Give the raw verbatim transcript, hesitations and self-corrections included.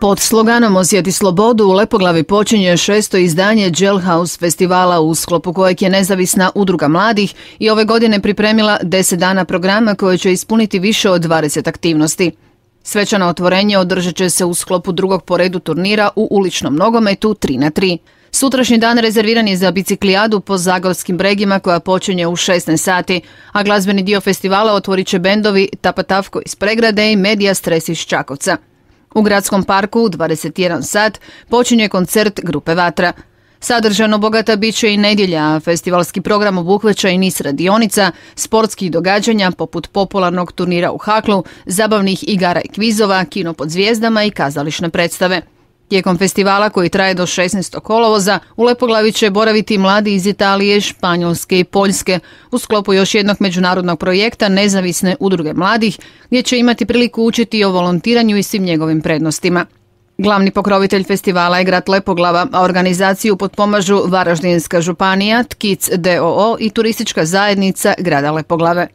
Pod sloganom Osjeti slobodu u Lepoglavi počinje šesto izdanje Jailhouse festivala u sklopu kojeg je nezavisna udruga mladih i ove godine pripremila deset dana programa koje će ispuniti više od dvadeset aktivnosti. Svečano otvorenje održat će se u sklopu drugog po redu turnira u uličnom nogometu tri na tri. Sutrašnji dan rezerviran je za biciklijadu po zagorskim bregima koja počinje u šesnaest sati, a glazbeni dio festivala otvorit će bendovi Tapatavko iz Pregrade i Medija Stres iz Čakovca. U gradskom parku u dvadeset jedan sat počinje koncert grupe Vatra. Sadržajno bogata bit će i nedjelja, a festivalski program obuhvaća i niz radionica, sportskih događanja poput popularnog turnira u haklu, zabavnih igara i kvizova, kino pod zvijezdama i kazališne predstave. Tijekom festivala koji traje do šesnaestog kolovoza u Lepoglavi će boraviti mladi iz Italije, Španjolske i Poljske u sklopu još jednog međunarodnog projekta Nezavisne udruge mladih gdje će imati priliku učiti o volontiranju i svim njegovim prednostima. Glavni pokrovitelj festivala je grad Lepoglava, a organizaciju potpomažu Varaždinska županija, Tkic d o o i turistička zajednica grada Lepoglave.